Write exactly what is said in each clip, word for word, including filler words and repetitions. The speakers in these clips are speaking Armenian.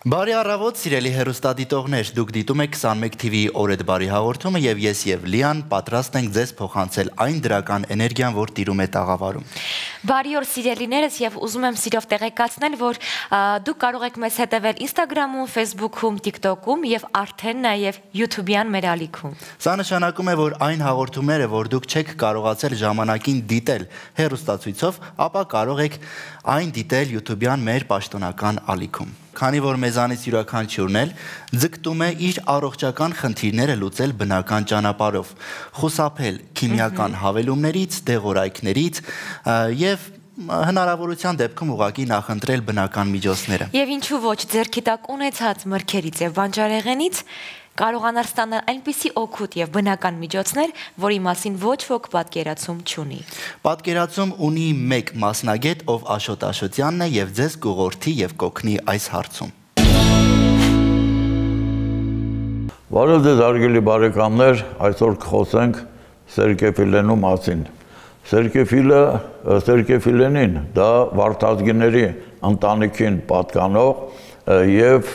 Բարի առավոտ, սիրելի հեռուստադիտողներ, դուք դիտում եք քսանմեկ թիվի օրեդ բարի հաղորդումը եւ ես եւ Լիան պատրաստ ենք ձեզ փոխանցել այն դրական էներգիան, որ տիրում է տաղավարում։ Բարի օր սիրելիներս եւ ուզում եմ սիրով տեղեկացնել, որ դուք կարող եք մեզ հետևել Instagram-ում, Facebook-ում, TikTok-ում եւ արդեն նաեւ YouTube-յան մեր ալիքում։ Սա նշանակում է, որ այն հաղորդումները, որ դուք չեք կարողացել ժամանակին դիտել հեռուստացույցով, ապա կարող եք այն դիտել YouTube-յան մեր պաշտոնական ալիքում։ Քանի որ մեզանից յուրաքանչյուրն էլ ձգտում է իր առողջական խնդիրները լուծել բնական ճանապարհով, խուսափել քիմիական հավելումներից, դեղորայքներից եւ հնարավորության դեպքում ուղղակի նախընտրել բնական միջոցները։ Եվ ինչու ոչ, ձեռքի տակ ունեցած մրգերից եւ բանջարեղենից կարողանալ ստանալ այնպիսի օգուտ եւ բնական միջոցներ, որի մասին ոչ ոք պատկերացում չունի։ Պատկերացում ունի մեկ մասնագետ, ով Աշոտ Աշոտյանն է եւ ձեզ կուղորդի եւ կօգնի այս հարցում։ Բարև ձեզ հարգելի բարեկամներ, այսօր կխոսենք սերկեֆիլենու մասին։ Սերկեֆիլը, սերկեֆիլենին դա վարդազգիների ընտանիքին պատկանող եւ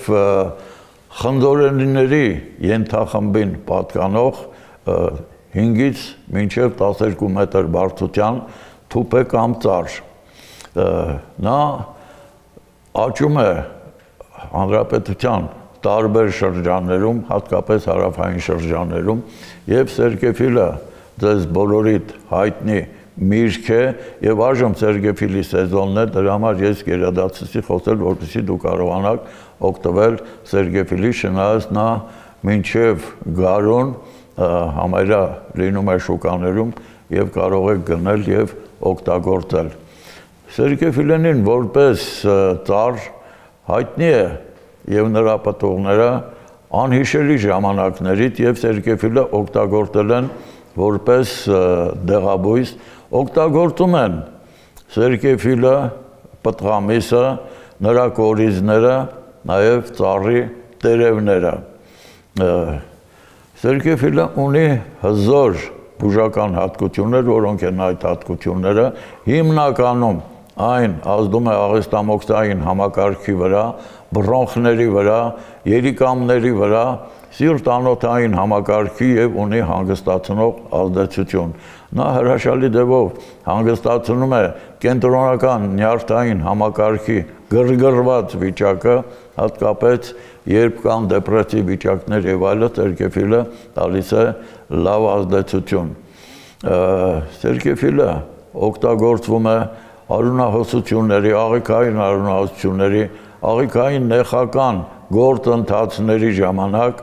խնձորենիների ենթախմբին պատկանող հինգից մինչև տասներկու մետր բարձրության թուփ է կամ ծառ։ Նա աճում է հանրապետության տարբեր շրջաններում, հատկապես հարավային շրջաններում, եւ սերկեֆիլը ձեզ բոլորիդ հայտնի միրգ է եւ այժմ սերկեֆիլի սեզոնն է, դրա համար ես գերադասեցի խոսել, որպեսզի դուք կարողանաք օգտվել սերկեֆիլի, չնայած նա մինչև գարուն համարյա լինում է շուկաներում եւ կարող եք գնել եւ օգտագործել։ Սերկեֆիլենին որպես ծառ հայտնի է եւ նրա պտուղները անհիշելի ժամանակներից եւ սերկեֆիլը օգտագործել են որպես դեղաբույս, օգտագործում են սերկեֆիլը, պտղամիսը, նրա կորիզները, նաև ծառի տերևները։ Սերկեֆիլը ունի հզոր բուժական հատկություններ, որոնք են այդ հատկությունները, հիմնականում այն ազդում է աղեստամոքսային համակարգի վրա, բրոնխների վրա, երիկամների վրա, սիրտ-անոթային համակարգի եւ ունի հանգստացնող ազդեցություն։ Նա հրաշալի ձևով հանգստացնում է կենտրոնական նյարդային համակարգի գրգռված վիճակը, հատկապես երբ կան դեպրեսիվ վիճակներ եւ այլը, սերկեֆիլը տալիս է լավ ազդեցություն։ Սերկեֆիլը օգտագործվում է արյունահոսությունների, աղիքային արյունահոսությունների, աղիքային նեխական գործընթացների ժամանակ,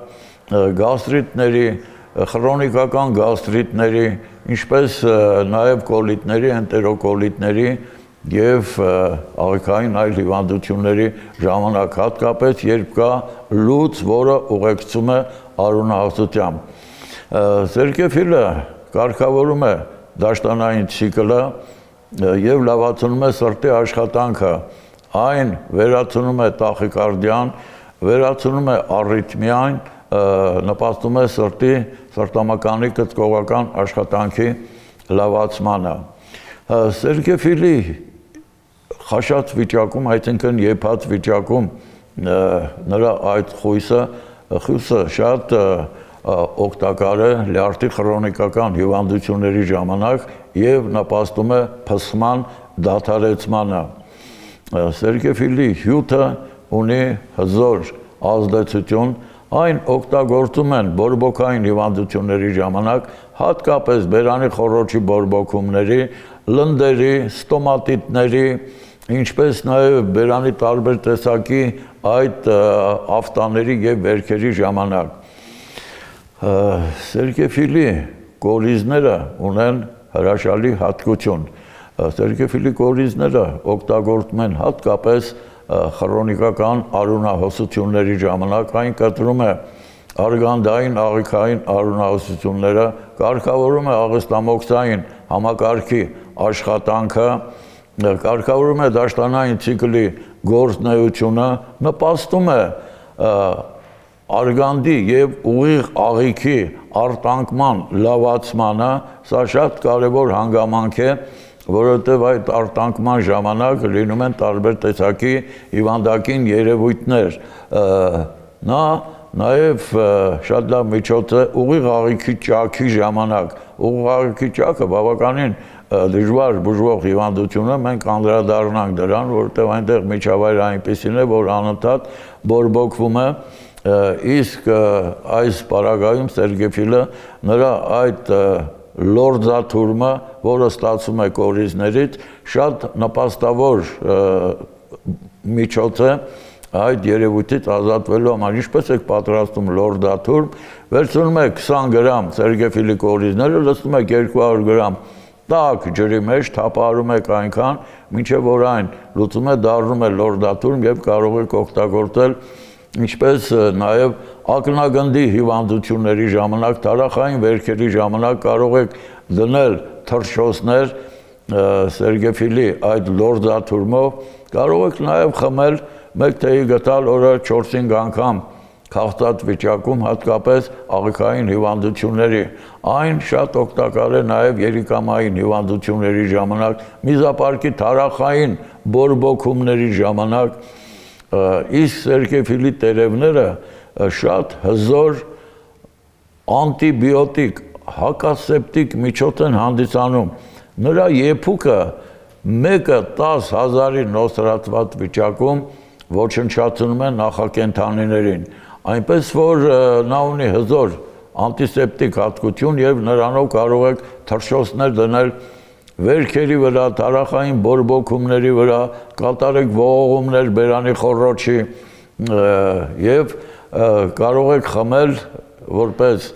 գաստրիտների, խրոնիկական գաստրիտների, ինչպես նաև կոլիտների, էնտերոկոլիտների եւ աղիքային այլ հիվանդությունների ժամանակ, հատկապես երբ կա լուծ, որը ուղեկցում է արյունահոսությամբ։ Սերկեֆիլը կարգավորում է դաշտանային ցիկլը եւ լավացնում է սրտի աշխատանքը, այն վերացնում է տախիկարդիան, վերացնում է առիթմիան, նպաստում է սրտի սրտամկանի կծկողական աշխատանքի լավացմանը։ Սերկեֆիլի խաշած վիճակում, այսինքն եփած վիճակում նրա այդ խույսը, խույսը շատ օգտակար է լյարդի խրոնիկական հիվանդությունների ժամանակ եւ նպաստում է փսխման դադարեցմանը։ Սերկեֆիլի հյութը ունի հզոր ազդեցություն, այն օգտագործում են բորբոքային հիվանդությունների ժամանակ, հատկապես բերանի խոռոչի բորբոքումների, լնդերի, ստոմատիտների, ինչպես նաև բերանի տարբեր տեսակի այդ աֆտաների եւ վերքերի ժամանակ։ Սերկեֆիլի կորիզները ունեն հրաշալի հատկություն։ Սերկեֆիլի կորիզները օգտագործում են հատկապես խրոնիկական արյունահոսությունների ժամանակ, այն կտրում է արգանդային աղիքային արյունահոսությունները, կարգավորում է աղեստամոքսային համակարգի աշխատանքը, կարգավորում է դաշտանային ցիկլի գործունեությունը, նպաստում է արգանդի եւ ուղիղ աղիքի արտանկման լավացմանը, սա շատ կարևոր հանգամանք է, որովհետև այդ արտանկման ժամանակ լինում են տարբեր տեսակի հիվանդակին երևույթներ։ Նա նաև շատ լավ միջոց է ուղիղ աղիքի ճաքի ժամանակ։ Ուղիղ աղիքի ճաքը բավականին դժվար բուժվող հիվանդություն է, մենք անդրադառնանք դրան, որովհետև այնտեղ միջավայրը այնպիսին է, որ անընդհատ բորբոքվում է, իսկ այս պարագայում Սերգեյֆիլը նրա այդ լորձաթուրմը, որը ստացվում է կորիզներից, շատ նպաստավոր միջոց է այդ երևույթից ազատվելու համար։ Ինչպես եք պատրաստում լորձաթուրմ, վերցնում եք քսան գրամ Սերգեյֆիլի կորիզները, լցնում եք երկու հարյուր գրամ տաք ջրի մեջ, թափահարում եք այնքան, մինչև որ այն լուծում է, դառնում է լորձաթուրմ եւ կարող եք օգտագործել ինչպես նաև ակնագնդի հիվանդությունների ժամանակ, թարախային վերքերի ժամանակ կարող եք դնել թռչոցներ Սերգեյֆիլի այդ լորձաթուրմով, կարող եք նաև խմել մեկ թեյի գտալ օրը չորս-հինգ անգամ քաղցած վիճակում, հատկապես աղիքային հիվանդությունների։ Այն շատ օգտակար է նաև երիկամային հիվանդությունների ժամանակ, միզապարկի թարախային բորբոքումների ժամանակ, իսկ Սերգեյֆիլի տերևները շատ հզոր անտիբիոտիկ, հակասեպտիկ միջոց են հանդիսանում։ Նրա եփուկը մեկը տաս հազարի նոսրացված վիճակում ոչնչացնում է նախակենդանիներին, այնպես որ նա ունի հզոր անտիսեպտիկ հատկություն եւ նրանով կարող եք թռչոցներ դնել վերքերի վրա, թարախային բորբոքումների վրա, կատարեք ողողումներ բերանի խոռոչի եւ կարող եք խմել որպես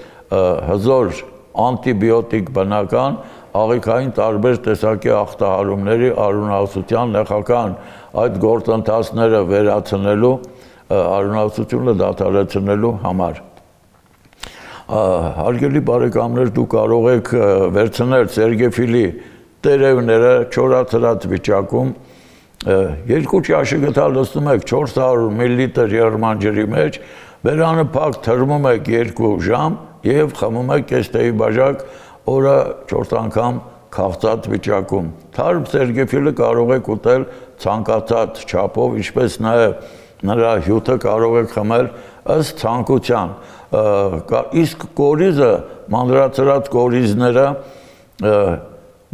հզոր անտիբիոտիկ բնական աղիքային տարբեր տեսակի ախտահարումների արյունահոսության նեխական այդ գործընթացները վերացնելու, արյունահոսությունը դադարեցնելու համար։ Հարգելի բարեկամներ, դուք կարող եք վերցնել Սերգեյֆիլի տերևները չորացրած վիճակում, երկու ճաշի գտալ լցնում եք չորս հարյուր միլիլիտր եղերման ջրի մեջ, բերանը փակ թրմում եք երկու ժամ եւ խմում եք կես թեյի բաժակ օրը չորս անգամ քաղցած վիճակում։ Թարմ Սերգեյֆիլը կարող եք ուտել ցանկացած չափով, ինչպես նաեւ նրա հյութը կարող եք խմել ըստ ցանկության։ Իսկ կորիզը, մանրացրած կորիզները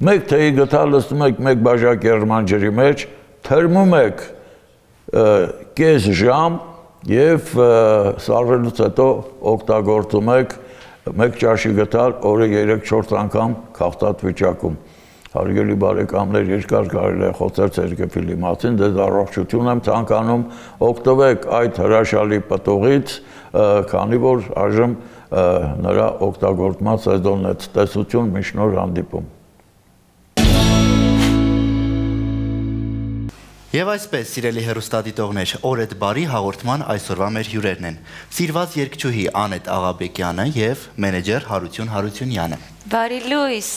մեկ թեյի գտալ լցնում եք մեկ բաժակ եղերման ջրի մեջ, թրմում եք կես ժամ եւ սառվելուց հետո օգտագործում եք մեկ ճաշի գտալ օրը երեք-չորս անգամ քաղցած վիճակում։ Հարգելի բարեկամներ, երկար կարելի է խոսել Սերգեյֆիլի մասին, դες առողջություն եմ ցանկանում, օգտվեք այդ հրաշալի պտուղից, քանի որ այժմ նրա օգտագործման սեզոնն է։ Տեսություն, մինչ նոր հանդիպում։ Եվ այսպես, սիրելի հեռուստադիտողներ, օրեդ բարի հաղորդման այսօրվա մեր հյուրերն են սիրված երգչուհի Անետ Աղաբեկյանը եւ մենեջեր Հարություն Հարությունյանը։ Բարի լույս։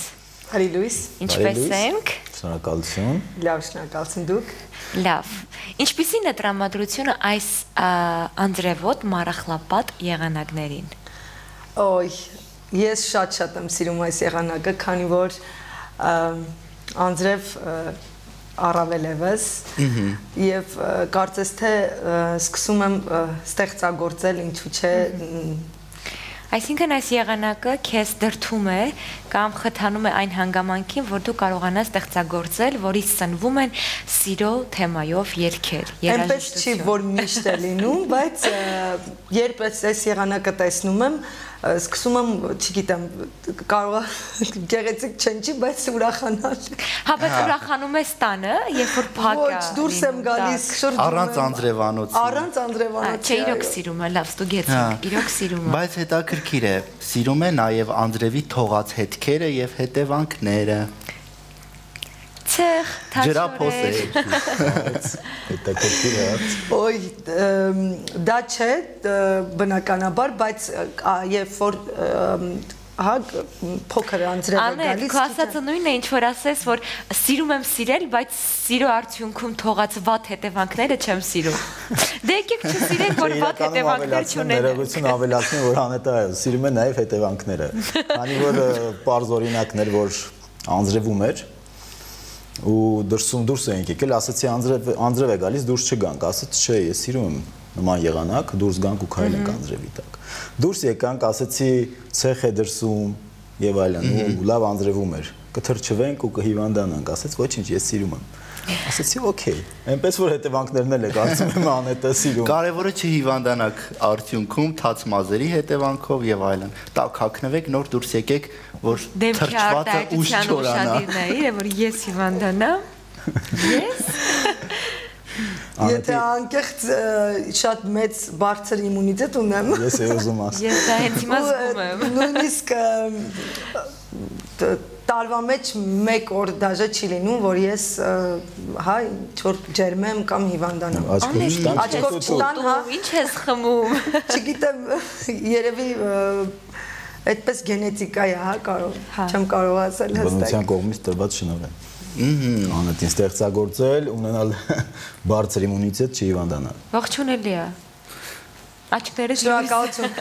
Բարի լույս։ Ինչպե՞ս ենք։ Շնորհակալություն։ Լավ, շնորհակալություն դուք։ Լավ։ Ինչպիսին է տրամադրությունը այս անձրևոտ մարախլապատ եղանակներին։ Ոյ, ես շատ-շատ եմ սիրում այս եղանակը, քանի որ անձրև առավել եւս եւ կարծես թե սկսում եմ ստեղծագործել, ինչու՞ չէ։ Այսինքն այս եղանակը քեզ դրթում է կամ խթանում է այն հանգամանքին, որ դու կարողանաս ստեղծագործել, որից սնվում են սիրո թեմայով երգեր, երաժշտություն։ Այնպես չի, որ միշտ է լինում, բայց երբ այս եղանակը տեսնում եմ, սկսում եմ, չգիտեմ, կարող է գեղեցիկ չնչի, բայց ուրախանալ։ Հա, բայց ուրախանում ես տանը, երբ որ փակ է։ Ոչ, դուրս եմ գալիս, շրջում եմ։ Առանց անձրևանոցի։ Առանց անձրևանոցի։ Չէ, իրոք սիրում է, լավ, ստուգեցինք, իրոք սիրում է։ Բայց հետաքրքիր է, սիրում է նաև անձրևի թողած հետքերը եւ հետևանքները։ Ցեղ, ջրափոսեր։ Հետաքրքիր է։ Ոյ, դա չէ, բնականաբար, բայց երբ որ հա փոքր անձրև է գալիս։ Անետ, քո ասածը նույնն է, ինչ որ ասես, որ սիրում եմ սիրել, բայց սիրո արդյունքում թողած վատ հետևանքները չեմ սիրում։ Դե եկեք չսիրենք, որ վատ հետևանքներ չունենան։ Ներողություն ավելացնի, որ Անետը սիրում է նաև հետևանքները։ Քանի որ պարզ օրինակներ, որ անձրևում էր, ու դրսում դուրս էինք եկել, ասացի Անձրև Անձրև է գալիս, դուրս չգանք, ասաց չէ, ես սիրում եմ նման եղանակ, դուրս գանք ու քայլենք Անձրևի տակ։ Դուրս եկանք, ասացի ցեխ է դրսում եւ այլն, ու լավ Անձրևում էր։ Կթրջվենք ու կհիվանդանանք, ասաց ոչինչ, ես սիրում եմ։ Ասացի օքեյ, այնպես որ հետևանքներն էլ է կարծում եմ Անետը սիրում։ Կարևորը չհիվանդանաք արդյունքում թաց մազերի հետևանքով եւ այլն։ Տակ հագնվեք, նոր դուրս եկեք, որ թրջվածը ուշ չորանա։ Որ ես հիվանդանամ։ Ես Եթե անկեղծ շատ մեծ բարձր իմունիտետ ունեմ։ Ես էի ուզում ասել։ Ես դա հենց հիմա զգում եմ։ Նույնիսկ տարվա մեջ մեկ օր դաժե չի լինում, որ ես հա ինչ-որ ջերմեմ կամ հիվանդանամ։ Աչքով չտան, հա։ Ինչ ես խմում։ Չգիտեմ, երևի այդպես գենետիկա է, հա, կարող, չեմ կարող ասել հստակ։ Բնության կողմից տրված շնորհ է։ Անետին ստեղծագործել, ունենալ բարձր իմունիտետ, չհիվանդանալ։ Ողջունելի է։ Աչքներս շնորհակալություն։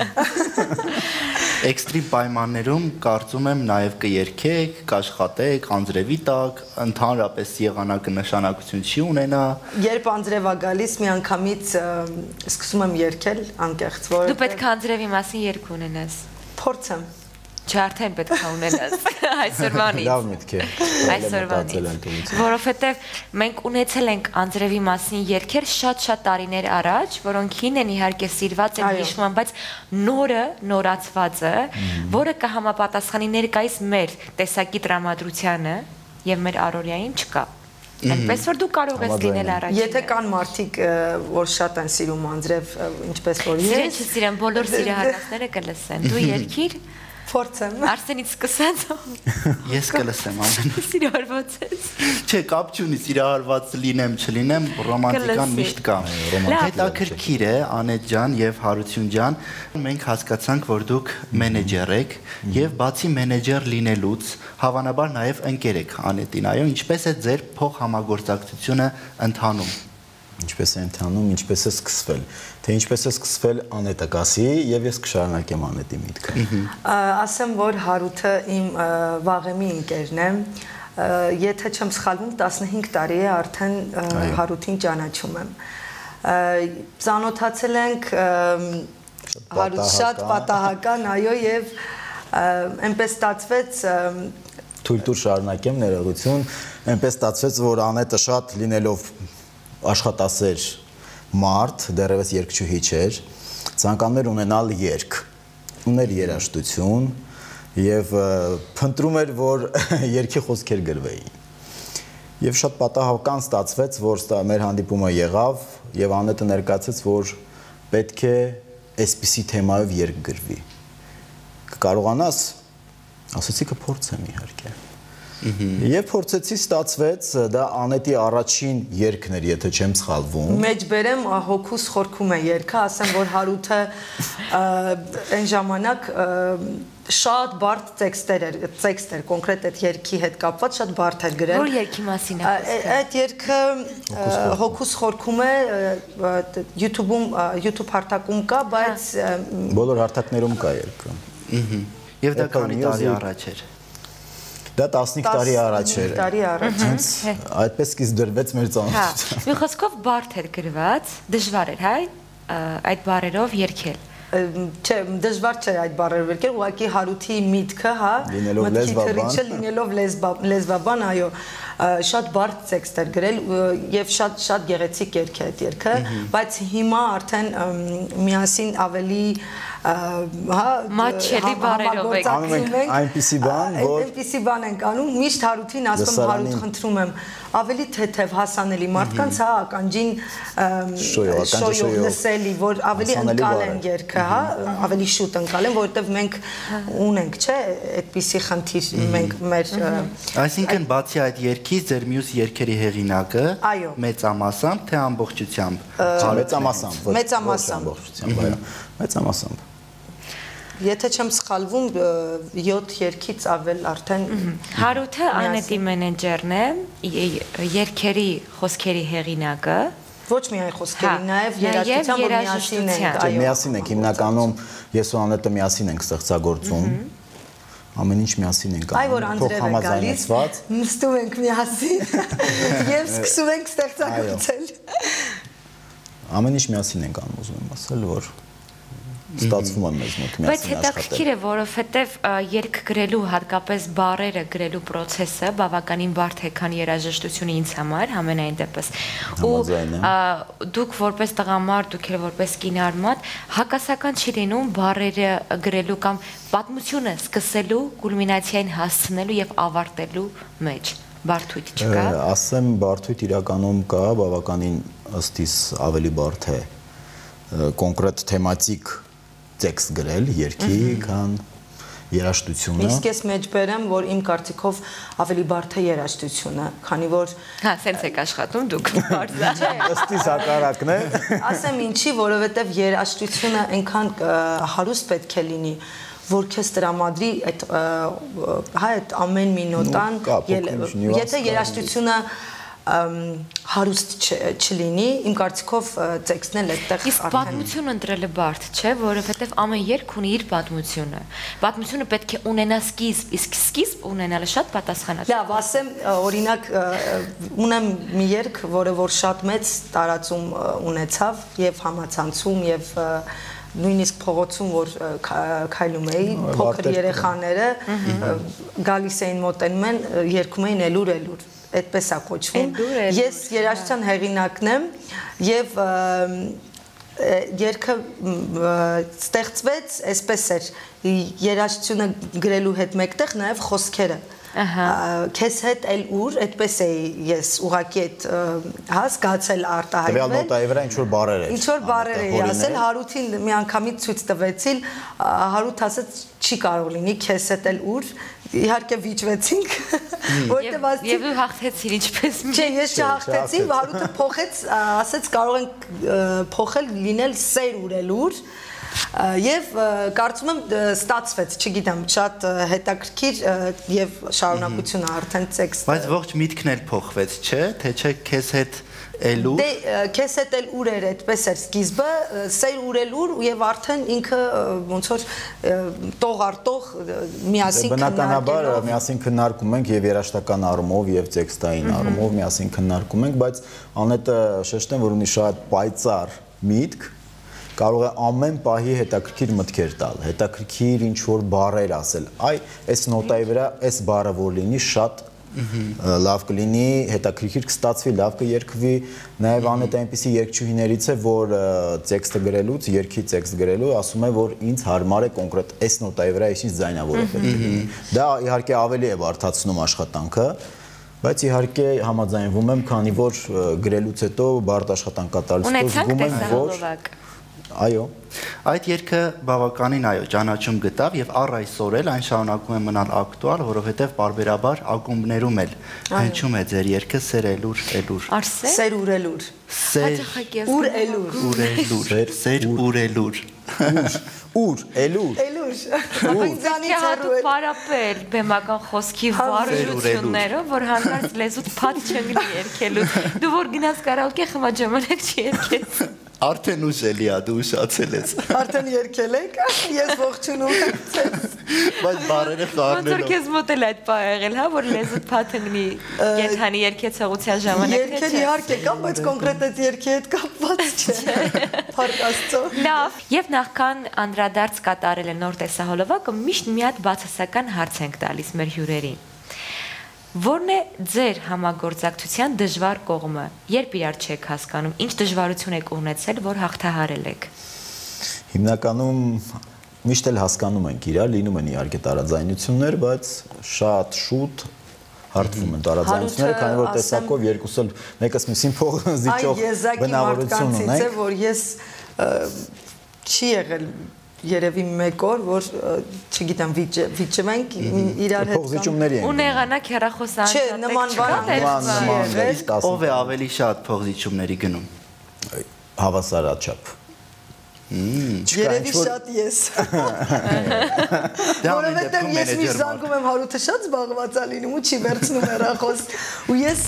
Էքստրիմ պայմաններում կարծում եմ նաև կերքեք, կաշխատեք, Անձրևի տակ, ընդհանրապես եղանակը նշանակություն չի ունենա։ Երբ Անձրև է գալիս, մի անգամից սկսում եմ երգել անկեղծ, որ Դու պետք է Անձրևի մասին երգ ունենաս։ Փորձեմ։ Չէ, արդեն պետք է ունենաս այսօրվանից։ Լավ միտք է։ Այսօրվանից։ Որովհետև մենք ունեցել ենք Անձրևի մասին երգեր շատ-շատ տարիներ առաջ, որոնք հին են իհարկե սիրված են հիշվում են, բայց նորը, նորացվածը, որը կհամապատասխանի ներկայիս մեր տեսակի տրամադրությանը եւ մեր առօրյային չկա։ Այնպես որ դու կարող ես լինել առաջինը։ Եթե կան մարդիկ, որ շատ են սիրում Անձրև, ինչպես որ ես։ Սիրեն չսիրեն, բոլոր սիրահարվածները կլսեն։ Դու երգիր Փորձեմ։ Արսենից սկսած։ Ես կլսեմ ամեն։ Սիրահարված ես։ Չէ, կապ չունի սիրահարված լինեմ, չլինեմ, ռոմանտիկան միշտ կա։ Հետաքրքիր է, Անետ ջան եւ Հարություն ջան, մենք հասկացանք, որ դուք մենեջեր եք եւ բացի մենեջեր լինելուց, հավանաբար նաեւ ընկեր եք Անետին, այո, ինչպես է ձեր փոխհամագործակցությունը ընթանում։ Ինչպես է ընթանում, ինչպես է սկսվել, թե ինչպես է սկսվել Անետը կասի եւ ես կշարունակեմ Անետի միտքը։ Ասեմ, որ Հարութը իմ վաղեմի ընկերն է, եթե չեմ սխալվում, տասնհինգ տարի է արդեն Հարութին ճանաչում եմ։ Ծանոթացել ենք Հարութ շատ պատահական, այո, եւ այնպես ստացվեց Թույլ տուր շարունակեմ ներողություն, այնպես ստացվեց, որ Անետը շատ լինելով աշխատասեր մարդ, դեռևս երգչուհի չէր, ցանկանում էր ունենալ երգ, ուներ երաժշտություն եւ փնտրում էր, որ երգի խոսքեր գրվեին։ Եվ շատ պատահական ստացվեց, որ մեր հանդիպումը եղավ եւ Անետը ներկայացեց, որ պետք է այսպիսի թեմայով երգ գրվի։ Կկարողանաս, ասացի կփորձեմ իհարկե։ Եվ փորձեցի ստացվեց, դա Անետի առաջին երգն էր, եթե չեմ սխալվում։ Մեջբերեմ հոգուս խորքում է երգը, ասեմ, որ Հարութը այն ժամանակ շատ բարդ տեքստեր էր, տեքստ էր, կոնկրետ այդ երգի հետ կապված շատ բարդ էր գրել։ Որ երգի մասին է խոսքը։ Այդ երգը հոգուս խորքում է, YouTube-ում, YouTube հարթակում կա, բայց բոլոր հարթակներում կա երգը։ Եվ դա քանի տարի առաջ էր։ Դա տասնհինգ տարի առաջ էր։ տարի առաջ։ Այդպես սկիզբ դրվեց մեր ծանոթությունը։ Մի խոսքով բարդ էր գրված, դժվար էր, հայ, այդ բառերով երգել։ Չէ, դժվար չէ այդ բառերը վերքել, ուղղակի Հարութի միտքը, հա, մտքի լինելով լեզվաբան, այո, շատ բարդ տեքստ էր գրել եւ շատ շատ գեղեցիկ երգ է այդ երգը, բայց հիմա արդեն միասին ավելի հա մաչելի բառերով եք անում ենք այնպիսի բան, որ այնպիսի բան ենք անում, միշտ Հարութին ասում Հարութ խնդրում եմ ավելի թեթև հասանելի մարդկանց հա ականջին շոյով լսելի, որ ավելի ընկալեն երգը, հա, ավելի շուտ ընկալեն, որովհետև մենք ունենք, չէ, այդպիսի խնդիր մենք մեր Այսինքն բացի այդ երգից ձեր մյուս երգերի հեղինակը մեծամասամբ թե ամբողջությամբ մեծամասամբ մեծամասամբ այո մեծամասամբ Եթե չեմ սխալվում յոթ երգից ավել արդեն Հարութը Անետի մենեջերն է, երգերի խոսքերի հեղինակը Ոչ միայն խոսքերի, նաև երաժշտությամբ միասին ենք, այո։ Միասին ենք, հիմնականում ես ու Անետը միասին ենք ստեղծագործում։ ամեն ինչ միասին ենք անում։ Այ որ Անդրեյը գալիս, նստում ենք միասին եւ սկսում ենք ստեղծագործել։ Ամեն ինչ միասին ենք անում, ուզում եմ ասել, որ ստացվում է մեզ մոտ միասին աշխատել։ Բայց հետաքրքիր է, որովհետև երգ գրելու, հատկապես բառերը գրելու process-ը բավականին բարդ է, քան երաժշտությունը ինձ համար, համենայն դեպս։ Ու դուք որպես տղամարդ, դուք էլ որպես կինարմատ, հակասական չի լինում բառերը գրելու կամ պատմությունը սկսելու, կուլմինացիային հասցնելու եւ ավարտելու մեջ։ Բարդույթ չկա։ Ասեմ, բարդույթ իրականում կա, բավականին ըստ իս ավելի բարդ է կոնկրետ թեմատիկ տեքստ գրել երկի, քան երաժշտությունը։ Իսկ ես մեջ բերեմ, որ իմ կարծիքով ավելի բարդ է երաժշտությունը, քանի որ հա, սենց եք աշխատում դուք բարձա։ Ըստ իս հակառակն է։ Ասեմ ինչի, որովհետև երաժշտությունը այնքան հարուստ պետք է լինի, որ քեզ տրամադրի այդ հա այդ ամեն մի նոտան, եթե երաժշտությունը հարուստ չլինի, իմ կարծիքով տեքստն էլ այդտեղ Իսկ պատմություն ընտրելը բարդ չէ, որովհետև ամեն երգ ունի իր պատմությունը։ Պատմությունը պետք է ունենա սկիզբ, իսկ սկիզբ ունենալը շատ պատասխանատու։ Լավ, ասեմ, օրինակ ունեմ մի երգ, որը որ շատ մեծ տարածում ունեցավ եւ համացանցում եւ նույնիսկ փողոցում որ քայլում էի, փոքր երեխաները գալիս էին մոտենում են, երգում էին Էլուր Էլուր այդպես է կոչվում։ Ես երաժշտության հեղինակն եմ եւ երգը ստեղծվեց, այսպես էր, երաժշտությունը գրելու հետ մեկտեղ նաեւ խոսքերը։ Քեզ հետ էլ ուր, այդպես էի ես ուղակի այդ հա զգացել արտահայտվել։ Տվյալ նոտայի վրա ինչ որ բառեր էր։ Ինչ որ բառեր էի ասել, Հարութին մի անգամից ցույց տվեցի, Հարութ ասաց չի կարող լինի, քեզ հետ էլ ուր իհարկե վիճվեցինք, որտեղ ասեցի Եվ ու հաղթեցիր ինչպես մի։ Չէ, ես չհաղթեցի, Հարութը փոխեց, ասեց կարող ենք փոխել լինել սեր ուրելուր եւ կարծում եմ ստացվեց, չգիտեմ, շատ հետաքրքիր եւ շարունակությունը արդեն տեքստ։ Բայց ողջ միտքն էլ փոխվեց, չէ՞, թե չէ քեզ հետ Էլուր։ Դե քեզ հետ էլ ուր էր, այդպես էր սկիզբը, սեր ուրելուր եւ արդեն ինքը ոնց որ տող արտող միասին բնականաբար միասին քննարկում ենք եւ երաժշտական առումով եւ տեքստային առումով միասին քննարկում ենք, բայց Անետը շեշտեմ, որ ունի շատ պայծառ միտք, կարող է ամեն պահի հետաքրքիր մտքեր տալ, հետաքրքիր ինչ որ բառեր ասել։ Այ այս նոտայի վրա այս բառը որ լինի շատ լավ կլինի, հետաքրքիր կստացվի, լավ կերկվի, նաև Անետը այնպիսի երգչուհիներից է, որ տեքստը գրելուց, երգի տեքստ գրելու, ասում է, որ ինձ հարմար է կոնկրետ այս նոտայի վրա այսինչ ձայնավորը պետք է լինի։ Դա իհարկե ավելի է բարդացնում աշխատանքը, բայց իհարկե համաձայնվում եմ, քանի որ գրելուց հետո բարդ աշխատանք կատարելուց հետո զգում եմ, որ Այո։ Այդ երգը բավականին այո, ճանաչում գտավ եւ առ այսօր էլ այն շարունակում է մնալ ակտուալ, որովհետեւ բարբերաբար ակումբներում էլ հնչում է ձեր երգը Սեր Էլուր Էլուր։ Սեր ուրելուր։ Ուր Էլուր։ Ուրելուր։ Սեր ուրելուր։ Ուր Էլուր։ Էլուր։ Ինձանից հատուկ պարապել բեմական խոսքի վարժություններով, որ հանկարծ լեզուդ փաթ չընկնի երգելու։ Դու որ գնաս կարաոկե խմա ժամանակ չի երգես։ Արդեն ուշ էլի ա դու ուշացել ես։ Արդեն երգել եք, ես ողջունում եմ ձեզ։ Բայց բառերը խառնելով։ Ոնց որ քեզ մոտ էլ այդ բա եղել, հա, որ լեզուդ փաթնի կենթանի երգեցողության ժամանակ թե չէ։ Երգել իհարկե կա, բայց կոնկրետ այդ երգի հետ կապված չէ։ Փառք Աստծո։ Լավ, եւ նախքան անդրադարձ կատարել է նոր տեսահոլովակը, միշտ մի հատ բացասական հարց ենք տալիս մեր հյուրերին։ Որն է ձեր համագործակցության դժվար կողմը, երբ իրար չեք հասկանում, ինչ դժվարություն եք ունեցել, որ հաղթահարել եք։ Հիմնականում միշտ էլ հասկանում ենք իրար, լինում են իհարկե տարաձայնություններ, բայց շատ շուտ հարթվում են տարաձայնությունները, քանի որ տեսակով երկուս էլ մեկս մյուսին փող զիջող բնավորություն ունենք, որ ես չի եղել երևի մեկ օր, որ չգիտեմ, վիճվենք իրար հետ փողզիջումների են։ Ու եղանակ հեռախոս Չէ, նման բան Իսկ ով է ավելի շատ փողզիջումների գնում։ Հավասարաչափ։ Երևի շատ ես։ Որովհետև ես մի զանգում եմ Հարութը շատ զբաղված է լինում ու չի վերցնում հեռախոս։ Ու ես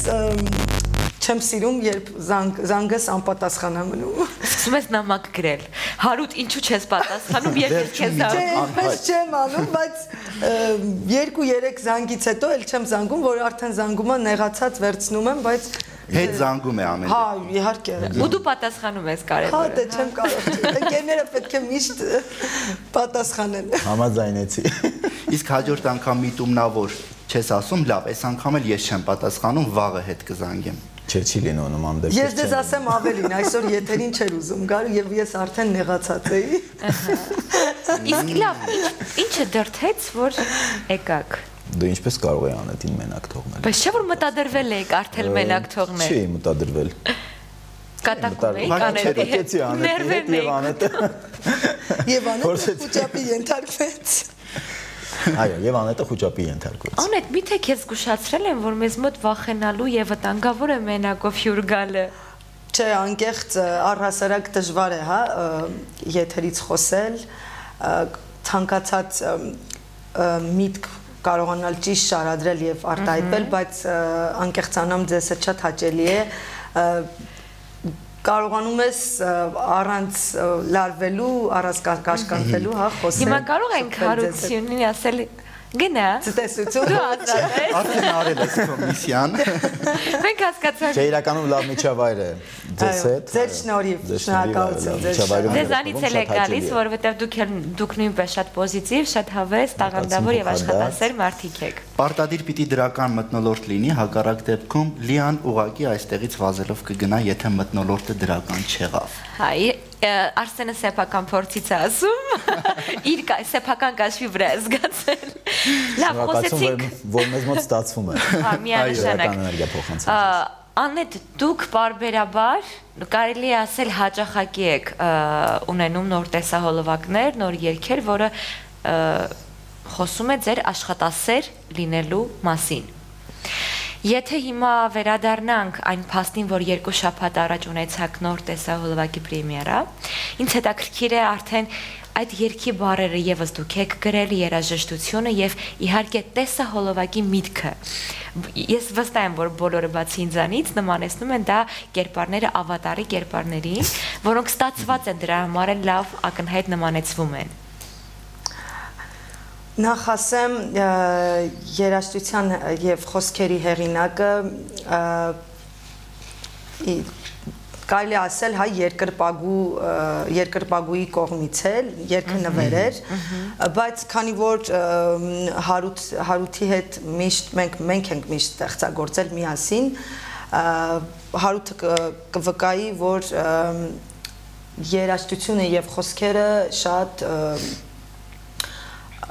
չեմ սիրում, երբ զանգս անպատասխան է մնում։ Սկսում ես նամակ գրել։ Հարութ, ինչու չես պատասխանում, ես քեզ զանգում։ Չէ, ես չեմ անում, բայց երկու երեք զանգից հետո էլ չեմ զանգում, որ արդեն զանգումը նեղացած վերցնում եմ, բայց հետ զանգում է ամեն դեպքում։ Հա, իհարկե։ Ու դու պատասխանում ես կարևորը։ Հա, դե չեմ կարող։ Ընկերները պետք է միշտ պատասխանեն։ Համաձայնեցի։ Իսկ հաջորդ անգամ միտումնավոր չես ասում, լավ, այս անգամ էլ ես չեմ պատասխանում, վաղը հետ կզանգեմ։ Չէ, չի լինում նման դեպքեր։ Ես դες ասեմ ավելին, այսօր եթերին չէր ուզում գալ եւ ես արդեն նեղացած էի։ Իսկ լավ, ինչը դրթեց, որ եկաք։ Դու ինչպես կարող ես Անետին մենակ թողնել։ Բայց չէ՞ որ մտադրվել եք արդեն մենակ թողնել։ Չի մտադրվել։ Կատակում եք Անետի հետ։ Անետի եւ Անետը։ Եվ Անետը խոճապի ենթարկվեց։ Այո, եւ Անետը խոճապի ենթարկվեց։ Անետ, միթե քեզ զգուշացրել են, որ մեզ մոտ վախենալու եւ վտանգավոր է մենակով հյուր գալը։ Չէ, անկեղծ առհասարակ դժվար է, հա, եթերից խոսել, ցանկացած միտք կարողանալ ճիշտ շարադրել եւ արտահայտվել, բայց անկեղծանամ ձեզ հետ շատ հաճելի է կարողանում ես առանց լարվելու, առանց կաշկանդվելու, հա, խոսել։ Հիմա կարող ենք հարությունին ասել գնա։ Ցտեսություն։ Դու ազատ ես։ Արդեն արել ես կոմիսիան։ Մենք հասկացանք։ Չէ, իրականում լավ միջավայր է ձեզ հետ։ Ձեր շնորհիվ, շնորհակալություն ձեզ։ Ձեզանից էլ է գալիս, որովհետև դուք դուք նույնպես շատ պոզիտիվ, շատ հավես, տաղանդավոր եւ աշխատասեր մարդիկ եք։ Պարտադիր պիտի դրական մթնոլորտ լինի, հակառակ դեպքում Լիան ուղակի այստեղից վազելով կգնա, եթե մթնոլորտը դրական չեղավ։ Հայ, Արսենը սեփական փորձից է ասում, իր սեփական կաշվի վրա է զգացել։ Լավ, խոսեցինք, որ մեզ մոտ ստացվում է։ Հա, միանշանակ։ Էներգիա փոխանցում։ Անետ, դուք բարբերաբար կարելի է ասել հաճախակի եք ունենում նոր տեսահոլովակներ, նոր երգեր, որը խոսում է ձեր աշխատասեր լինելու մասին։ Եթե հիմա վերադառնանք այն փաստին, որ երկու շաբաթ առաջ ունեցաք նոր տեսահոլովակի պրեմիերա, ինձ հետաքրքիր է արդեն այդ երգի բառերը եւս դուք եք գրել, երաժշտությունը եւ իհարկե տեսահոլովակի միտքը։ Ես վստահ եմ, որ բոլորը բացի ինձանից նմանեցնում են դա կերպարները ավատարի կերպարներին, որոնք ստացված են դրա համար են լավ ակնհայտ նմանեցվում են։ Նախ ասեմ երաժշտության եւ խոսքերի հեղինակը կարելի ասել հայ երկրպագու երկրպագուի կողմից էլ երգը նվերեր, բայց քանի որ Հարութ Հարութի հետ միշտ մենք մենք ենք միշտ ստեղծագործել միասին, Հարութը կվկայի, որ երաժշտությունը եւ խոսքերը շատ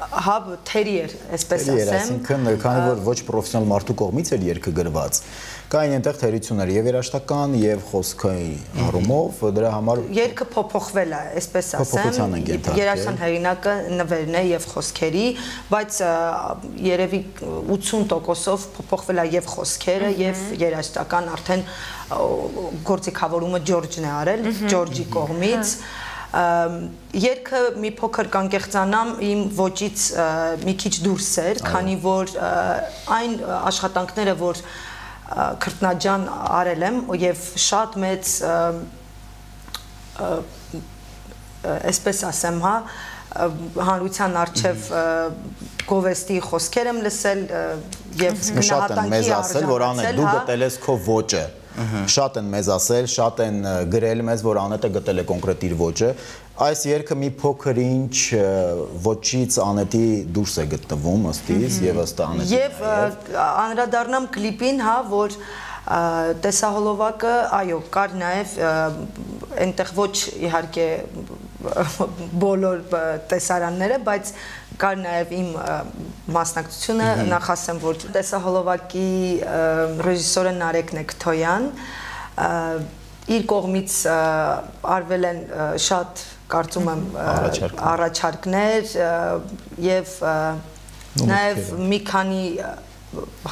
հա թերի էր, այսպես ասեմ։ Այսինքն, քանի որ ոչ պրոֆեսիոնալ մարդու կողմից էր երգը գրված, կային այնտեղ թերություններ եւ երաժշտական եւ խոսքային առումով, դրա համար երգը փոփոխվել է, այսպես ասեմ։ Երաժշտական հեղինակը նվերն է եւ խոսքերի, բայց երևի ութսուն տոկոսով փոփոխվել է եւ խոսքերը եւ երաժշտական արդեն գործիքավորումը Ջորջն է արել, Ջորջի կողմից։ Երգը մի փոքր կանկեղծանամ իմ ոճից մի քիչ դուրս էր, քանի որ այն աշխատանքները, որ Քրտնաջան արել եմ եւ շատ մեծ այսպես ասեմ, հա, հանրության առջև գովեստի խոսքեր եմ լսել եւ գնահատանքի արժանացել, որ Անետ դու գտել ես քո ոճը։ Շատ են մեզ ասել, շատ են գրել մեզ, որ Անետը գտել է կոնկրետ իր ոճը։ Այս երգը մի փոքր ինչ ոճից Անետի դուրս է գտնվում ըստիս եւ ըստ Անետի։ Եվ անդրադառնամ կլիպին, հա, որ տեսահոլովակը, այո, կար նաեւ այնտեղ ոչ իհարկե բոլոր տեսարանները, բայց կար նաև իմ մասնակցությունը, նախ ասեմ, որ տեսահոլովակի ռեժիսորը Նարեկ Նեքթոյան, իր կողմից արվել են շատ, կարծում եմ, առաջարկներ եւ նաև մի քանի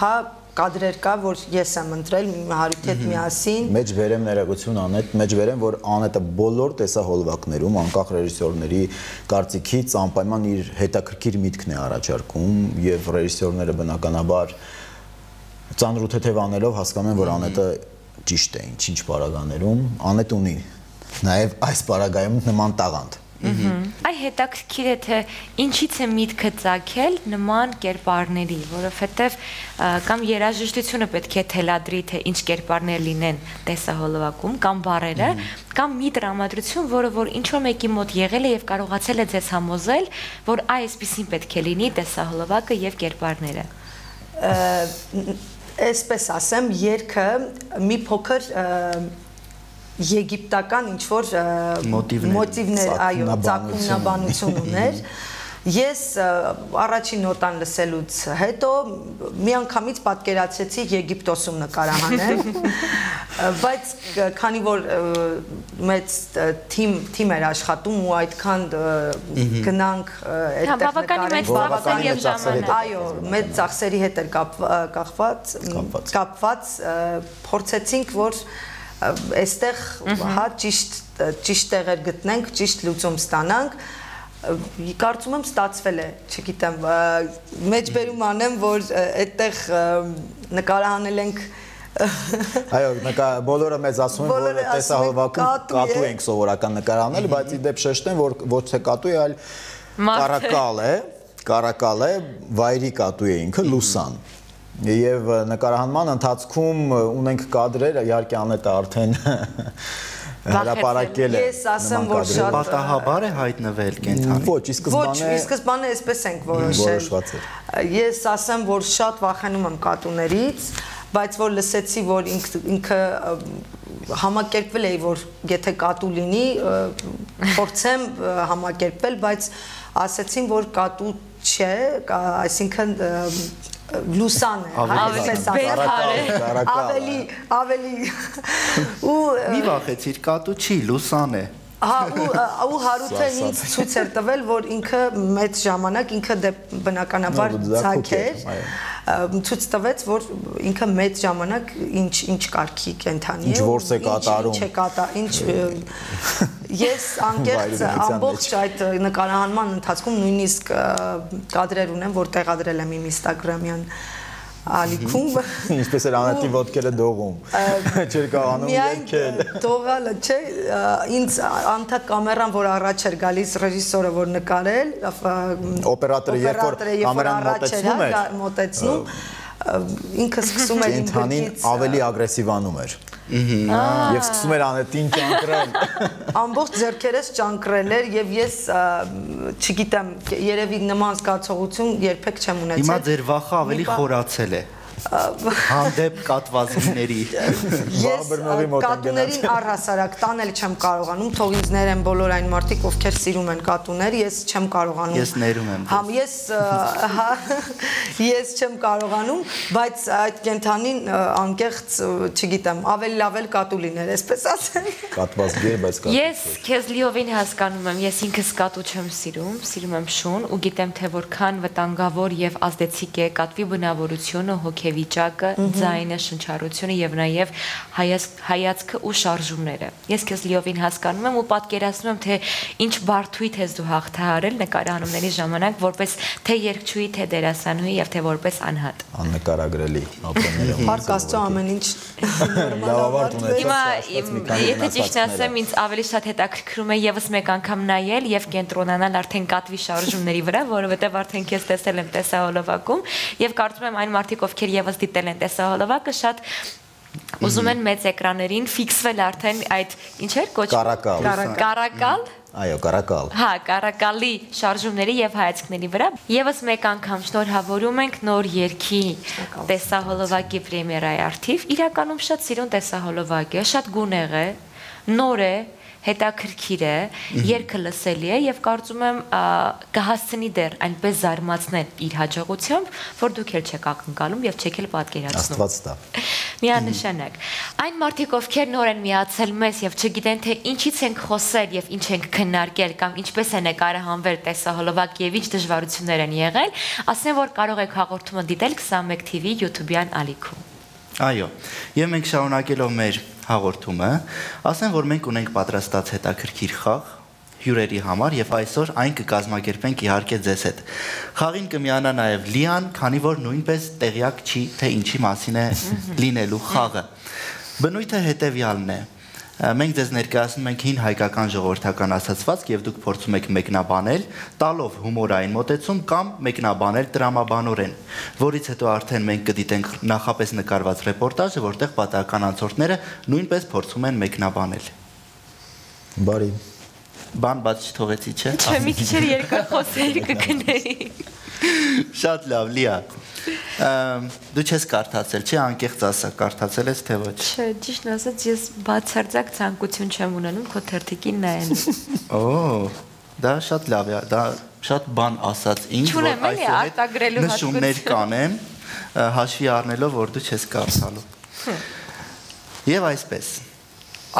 հա կադրեր կա, որ ես եմ ընտրել Հարութի հետ միասին։ Մեջ վերեմ ներողություն Անետ, մեջ վերեմ, որ Անետը բոլոր տեսահոլովակներում, անկախ ռեժիսորների կարծիքից անպայման իր հետաքրքիր միտքն է առաջարկում եւ ռեժիսորները բնականաբար ծանր ու թեթև անելով հասկանում են, որ Անետը ճիշտ է ինչ-ինչ պարագաներում, Անետ ունի Նաև այս պարագայում նման տաղանդ։ Այ հետաքրքիր է թե ինչից է միտքը ծագել նման կերպարների, որովհետև կամ երաժշտությունը պետք է թելադրի, թե ինչ կերպարներ լինեն տեսահոլովակում, կամ բառերը, կամ մի տրամադրություն, որը որ ինչ-որ մեկի մոտ եղել է եւ կարողացել է ձեզ համոզել, որ այսպեսին պետք է լինի տեսահոլովակը եւ կերպարները։ Այսպես ասեմ, երգը մի փոքր եգիպտական ինչ-որ մոտիվներ, այո, ծագումնաբանություն ուներ։ Ես առաջին նոտան լսելուց հետո միանգամից պատկերացրեցի Եգիպտոսում նկարահանել, բայց քանի որ մեծ թիմ էր աշխատում ու այդքան գնանք այդտեղ նկարել, այո, մեծ ծախսերի հետ էր կապված, կապված փորձեցինք, որ այստեղ հա ճիշտ տեղեր գտնենք, ճիշտ լուծում ստանանք, կարծում եմ ստացվել է, չգիտեմ, մեջբերում անեմ, որ այդտեղ նկարահանել ենք Այո, բոլորը մեզ ասում են, որ տեսահոլովակում կատու ենք սովորական նկարահանել, բայց ի դեպ շեշտեմ, որ ոչ թե կատու է, այլ կարակալ է, կարակալ է, վայրի կատու է ինքը, լուսան։ Եվ նկարահանման ընթացքում ունենք կադրեր, իհարկե Անետը արդեն հրապարակել է։ Ես ասեմ, որ շատ պատահաբար է հայտնվել կենթանի։ Ոչ, ի սկզբանե Ոչ, ի սկզբանե այսպես ենք որոշել։ Ես ասեմ, որ շատ վախենում եմ կատուներից, բայց որ լսեցի, որ ինքը համակերպվել էի, որ եթե կատու լինի, փորձեմ համակերպել, բայց ասեցին, որ կատու չէ, այսինքն լուսան է, այսպես ասած, ավելի, ավելի, ու մի վախեցիր, կատու չի, լուսան է։ Հա, ու Հարութը ինձ ցույց էր տվել, որ ինքը մեծ ժամանակ, ինքը բնականաբար ձագ էր, ցույց տվեց, որ ինքը մեծ ժամանակ ինչ կարգի կենթանի է, ինչ որս է կատարում, ինչ է կատարում, ինչ ես անկեղծ ամբողջ այդ նկարահանման ընթացքում նույնիսկ կադրեր ունեմ, որ տեղադրել եմ իմ Instagram-յան ալիքում, ինչպես էր Անետի ոտքերը դողում, չէր կարողանում երգել։ Միայն դողալը, չէ, ինձ անթակ կամերան, որ առաջ էր գալիս ռեժիսորը, որ նկարել, օպերատորը, երբ որ կամերան մոտեցնում էր, մոտեցնում, ինքը սկսում էր իմ գրքից ավելի ագրեսիվանում էր։ Եվ սկսում էր Անետին ճանկրել։ Ամբողջ ձեռքերս ճանկրել էր եւ ես չգիտեմ, երևի նման զգացողություն երբեք չեմ ունեցել։ Հիմա ձեր վախը ավելի խորացել է։ Հանդեպ կատվածների։ Ես կատուներին առհասարակ տանել չեմ կարողանում, թող ինձ ներեն բոլոր այն մարդիկ, ովքեր սիրում են կատուներ, ես չեմ կարողանում։ Ես ներում եմ։ Համ ես ես չեմ կարողանում, բայց այդ կենթանին անկեղծ, չգիտեմ, ավելի լավ էլ կատու լիներ, այսպես ասենք։ Կատված գեր, բայց կատու։ Ես քեզ լիովին հասկանում եմ, ես ինքս կատու չեմ սիրում, սիրում եմ շուն ու գիտեմ թե որքան վտանգավոր եւ ազդեցիկ է կատվի բնավորությունը, հոգեվիճակը, ձայնը, շնչառությունը եւ նաեւ հայացքը ու շարժումները։ Ես քեզ լիովին հասկանում եմ ու պատկերացնում եմ թե ինչ բարդույթ ես դու հաղթահարել նկարահանումների ժամանակ որպես թե երգչուհի, թե դերասանուհի եւ թե որպես անհատ։ Աննկարագրելի ապրումները։ Փառք Աստծո ամեն ինչ լավավարտ ունեցած։ Հիմա եթե ճիշտն ասեմ, ինձ ավելի շատ հետաքրքրում է եւս մեկ անգամ նայել եւ կենտրոնանալ արդեն կատվի շարժումների վրա, որովհետեւ արդեն քեզ տեսել եմ տեսահոլովակում եւ կարծում եմ այն մարդիկ, ովքեր եւս դիտել են տեսահոլովակը, շատ ուզում են մեծ էկրաններին ֆիքսվել արդեն այդ ինչ էր կոչվում կարակալ Այո, կարակալ։ Հա, կարակալի շարժումների եւ հայացքների վրա։ Եվս մեկ անգամ շնորհավորում ենք նոր երգի տեսահոլովակի պրեմիերայի արդիվ։ Իրականում շատ սիրուն տեսահոլովակ է, շատ գունեղ է, նոր է, հետաքրքիր է, երգը լսելի է եւ կարծում եմ կհասցնի դեռ այնպես զարմացնել իր հաջողությամբ, որ դուք էլ չեք ակնկալում եւ չեք էլ պատկերացնում։ Աստված տա։ Միանշանակ։ Այն մարդիկ, ովքեր նոր են միացել մեզ եւ չգիտեն թե ինչից ենք խոսել եւ ինչ ենք քննարկել կամ ինչպես է նկարահանվել տեսահոլովակ եւ ինչ դժվարություններ են եղել, ասեմ որ կարող եք հաղորդումը դիտել քսանմեկ T V YouTube-յան ալիքում։ Այո, եւ մենք շարունակելով մեր հաղորդումը, ասեմ, որ մենք ունենք պատրաստած հետաքրքիր խաղ հյուրերի համար եւ այսօր այն կկազմակերպենք իհարկե ձեզ հետ։ Խաղին կմիանա նաեւ Լիան, քանի որ նույնպես տեղյակ չի, թե ինչի մասին է լինելու խաղը։ Բնույթը հետեւյալն է. Մենք ձեզ ներկայացնում ենք հին հայկական ժողովրդական ասացվածք եւ դուք փորձում եք մեկնաբանել, տալով հումորային մոտեցում կամ մեկնաբանել տրամաբանորեն, որից հետո արդեն մենք կդիտենք նախապես նկարված ռեպորտաժը, որտեղ պատահական անցորդները նույնպես փորձում են մեկնաբանել։ Բարի։ Բան բաց չթողեցի, չէ՞։ Չէ, մի քիչ երկար խոսեի կգնեի։ Շատ լավ, Լիա։ Դու չես կարդացել, չէ՞, անկեղծ ասա, կարդացել ես թե ոչ։ Չէ, ճիշտն ասած, ես բացարձակ ցանկություն չեմ ունենում քո թերթիկին նայելու։ Օ, դա շատ լավ է, դա շատ բան ասած ինձ, Չունեմ էլի արտագրելու նշումներ կանեմ, հաշվի առնելով, որ դու չես կարդալու։ Եվ այսպես,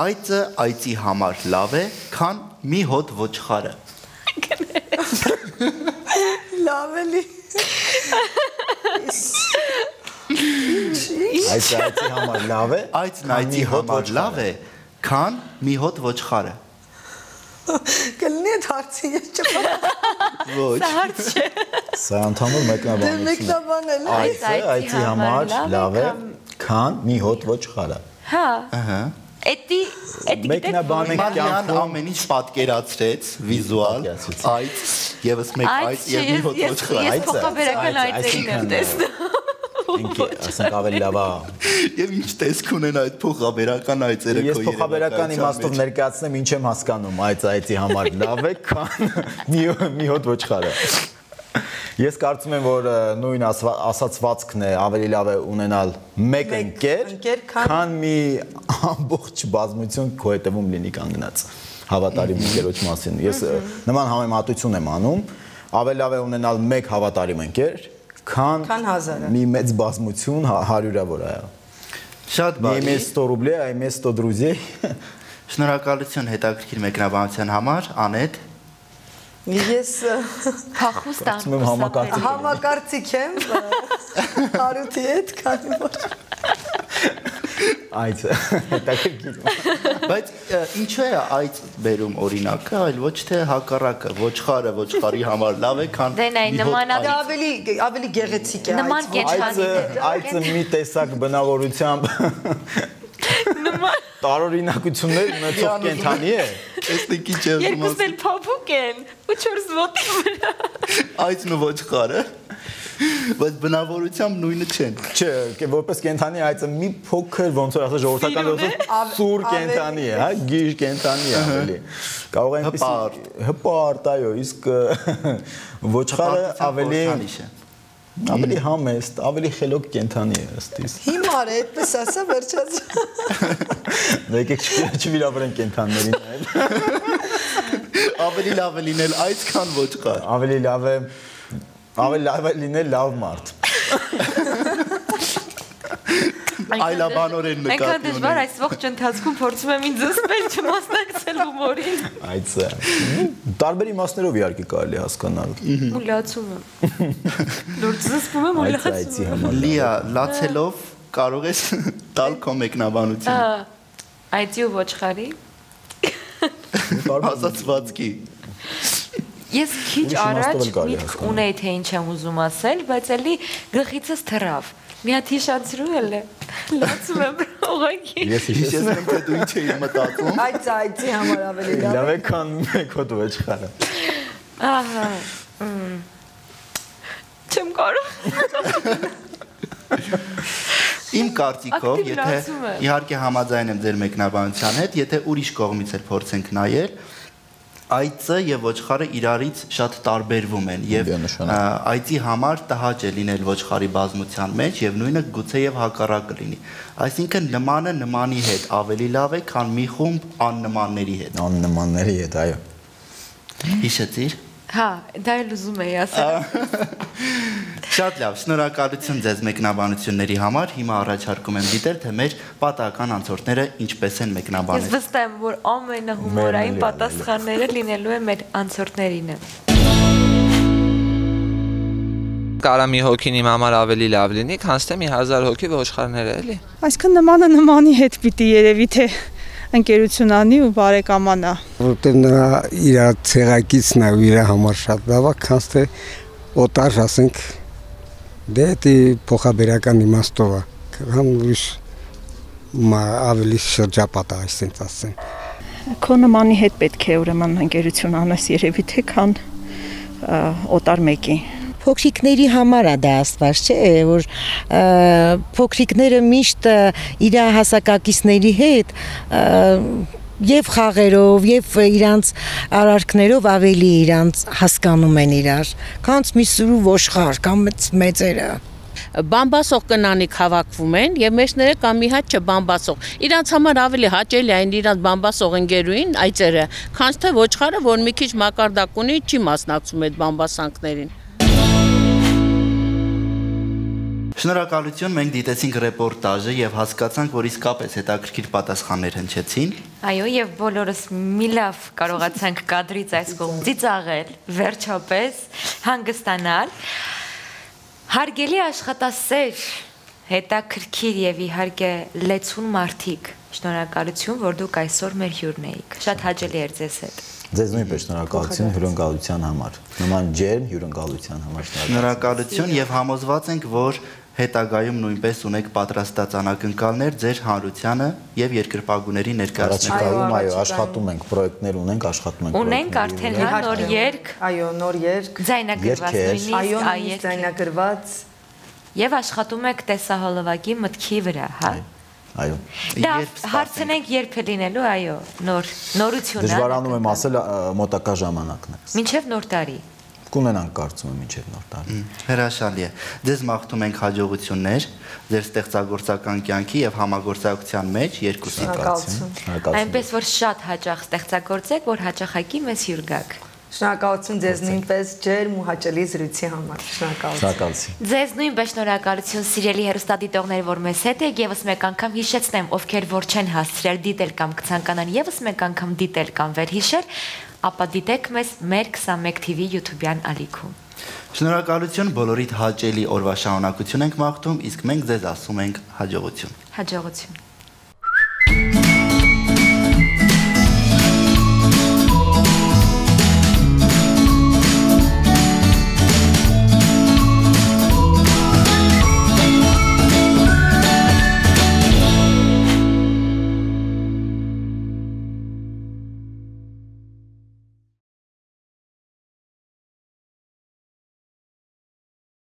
այծը այծի համար լավ է, քան մի հոտ ոչխարը։ Լավ էլի։ Այծը այծի համար լավ է։ Այծն այծի համար լավ է, քան մի հոտ ոչխարը։ Կլինի այդ հարցի ես չփոխ։ Ոչ։ Սա հարց չէ։ Սա ընդհանուր մեկնաբանություն է։ Մեկնաբանել է։ Այծը այծի համար լավ է, քան մի հոտ ոչխարը։ Հա։ Ահա։ Էդի, էդի Մեկնաբանենք Մարիան կյանքում ամեն ինչ պատկերացրեց, վիզուալ, այծ, եւս մեկ այծ եւ մի հոտ ոչխար։ Ես փոխաբերական այծերին եմ տեսնում։ ասենք ավելի լավ է։ Եվ ինչ տեսք ունեն այդ փոխաբերական այծերը քո Ես փոխաբերական իմաստով ներկայացնեմ ինչ եմ հասկանում այծ այծի համար լավ է, քան մի հոտ ոչխարը։ Ես կարծում եմ, որ նույն ասացվածքն է ավելի լավ է ունենալ մեկ ընկեր, քան մի ամբողջ բազմություն քո հետևում լինի կանգնած հավատարիմ ընկերոջ մասին։ Ես նման համեմատություն եմ անում, ավելի լավ է ունենալ մեկ հավատարիմ ընկեր, քան մի մեծ բազմություն հարյուրավոր այո։ Շատ բարի։ Մի sto ռուբլի, այ sto друзей։ Շնորհակալություն հետաքրքիր մեկնաբանության համար, Անետ։ Ես փախուստան համակարծիք եմ Հարութի հետ, քանի որ Այծը հետաքրքիր։ Բայց ինչու է այծ բերում օրինակը, այլ ոչ թե հակառակը, ոչխարը ոչխարի համար լավ է, քան Դե նայ նմանատիպ ավելի ավելի գեղեցիկ է նման Այծը այծը մի տեսակ բնավորությամբ տարօրինակություններ ունեցող կենդանի է։ Տեսնեք ինչ է ասում։ Երկուսն էլ փափուկ են ու չորս ոտի վրա։ Այծն ու ոչխարը, բայց բնավորությամբ նույնը չեն։ Չէ, որպես կենդանի այծը մի փոքր ոնց որ ասած ժողովրդական դասով սուր կենդանի է, հա, գիժ կենդանի է ավելի։ Կարող է այնպես հպարտ, այո, իսկ ոչխարը ավելի ավելի համեստ, ավելի խելոք կենդանի է ըստ իս։ Հիմար է, այդպես ասա, վերջած։ Եկեք չվիրավորենք կենդաններին այլ։ Ավելի լավ է լինել այծ, քան ոչխար։ Ավելի լավ է ավելի լավ է լինել լավ մարդ։ Այլաբանորեն նկատի ունեմ։ Այնքան դժվար այս ողջ ընթացքում փորձում եմ ինձ զսպել չմասնակցել հումորին։ Այծը տարբեր իմաստներով իհարկե կարելի հասկանալ։ Մուլացում եմ։ Լուրջ զսպում եմ ու լացում եմ։ Լիա, լացելով կարող ես տալ քո մեկնաբանությունը։ Այծի ու ոչխարի։ Ասացվածքի։ Ես քիչ առաջ միտք ունեի թե ինչ եմ ուզում ասել, բայց էլի գլխիցս թռավ։ Մի հատ հիշացրու էլ է։ Լացում եմ ուղղակի։ Ես հիշեցնում եմ, թե դու ինչ էի մտածում։ Այծ այծի համար ավելի լավ։ Լավ է, քան մեկ հոտ ոչխարը։ Ահա։ Չեմ կարող։ Իմ կարծիքով, եթե իհարկե համաձայն եմ ձեր մեկնաբանության հետ, եթե ուրիշ կողմից էլ փորձենք նայել, այծը եւ ոչխարը իրարից շատ տարբերվում են եւ այծի համար տհաճ է լինել ոչխարի բազմության մեջ եւ նույնը գուցե եւ հակառակը լինի։ Այսինքն նմանը նմանի հետ ավելի լավ է, քան մի խումբ աննմանների հետ։ Աննմանների հետ, այո։ Հիշեցիր։ Հա, դա էլ ուզում էի ասել։ Շատ լավ, շնորհակալություն ձեզ մեկնաբանությունների համար։ Հիմա առաջարկում եմ դիտել, թե մեր պատահական անցորդները ինչպես են մեկնաբանել։ Ես վստահ եմ, որ ամենահումորային պատասխանները լինելու են մեր անցորդներինը։ Կարա մի հոգին իմ համար ավելի լավ լինի, քան թե մի հազար հոգի ոչխարները, էլի։ Այսինքն նմանը նմանի հետ պիտի երևի թե ընկերություն անի ու բարեկամանա։ Որտեղ նրա իր ցեղակիցն է ու իր համար շատ լավ է, քան թե օտար, ասենք, դե դի փոխաբերական իմաստով է, կամ ուրիշ ավելի շրջապատ է, այսպես ասեմ։ Քո նմանի հետ պետք է ուրեմն ընկերություն անես երևի թե քան օտար մեկի։ Փոքրիկների համար է դա աստված, չէ, որ փոքրիկները միշտ իր հասակակիցների հետ եւ խաղերով եւ իրանց արարքներով ավելի իրանց հասկանում են իրար, քան մի սուրու ոշխար կամ մեծերը։ Բամբասող կնանիք հավաքվում են եւ մեջները կամ մի հատ չբամբասող։ Իրանց համար ավելի հաճելի այն իրանց բամբասող ընկերուին այծերը, քան թե ոչխարը, որ մի քիչ մակարդակ ունի, չի մասնակցում այդ բամբասանքներին։ Շնորհակալություն, մենք դիտեցինք ռեպորտաժը եւ հասկացանք, որ իսկապես հետաքրքիր պատասխաններ հնչեցին։ Այո, եւ բոլորս մի լավ կարողացանք կադրից այս կողմ ծիծաղել, վերջապես հանգստանալ։ Հարգելի աշխատասեր, հետաքրքիր եւ իհարկե լեցուն մարդիկ, շնորհակալություն, որ դուք այսօր մեր հյուրն էիք։ Շատ հաճելի էր ձեզ հետ։ Ձեզ նույնպես շնորհակալություն հյուրընկալության համար։ Նման ջերմ հյուրընկալության համար շնորհակալություն եւ համոզված ենք, որ հետագայում նույնպես ունեք պատրաստած անակնկալներ ձեր հանրությանը եւ երկրպագուների ներկայացնելու։ Այո, աշխատում ենք, պրոյեկտներ ունենք, աշխատում ենք։ Ունենք արդեն նոր երգ, այո, նոր երգ, ձայնագրված նույնիսկ, այո, ձայնագրված եւ աշխատում եք տեսահոլովակի մտքի վրա, հա։ Այո։ Դա հարցնենք երբ է լինելու, այո, նոր նորություն։ Դժվարանում եմ ասել մոտակա ժամանակն է։ Մինչև նոր տարի։ Կունենանք կարծում եմ մինչև նոր տարի։ Հրաշալի է։ Ձեզ մաղթում ենք հաջողություններ ձեր ստեղծագործական կյանքի եւ համագործակցության մեջ երկուսի կողմից։ Այնպես որ շատ հաճախ ստեղծագործեք, որ հաճախակի մեզ հյուր գաք։ Շնորհակալություն ձեզ նույնպես ջերմ ու հաճելի զրույցի համար։ Շնորհակալություն։ Ձեզ նույնպես շնորհակալություն սիրելի հեռուստադիտողներ, որ մեզ հետ եք, եւս մեկ անգամ հիշեցնեմ, ովքեր որ չեն հասցրել դիտել կամ կցանկանան եւս մեկ անգամ դիտել կամ վերհիշել, ապա դիտեք մեզ մեր քսանմեկ թիվի YouTube-յան ալիքում։ Շնորհակալություն, բոլորիդ հաճելի օրվա շարունակություն ենք մաղթում, իսկ մենք ձեզ ասում ենք հաջողություն։ Հաջողություն։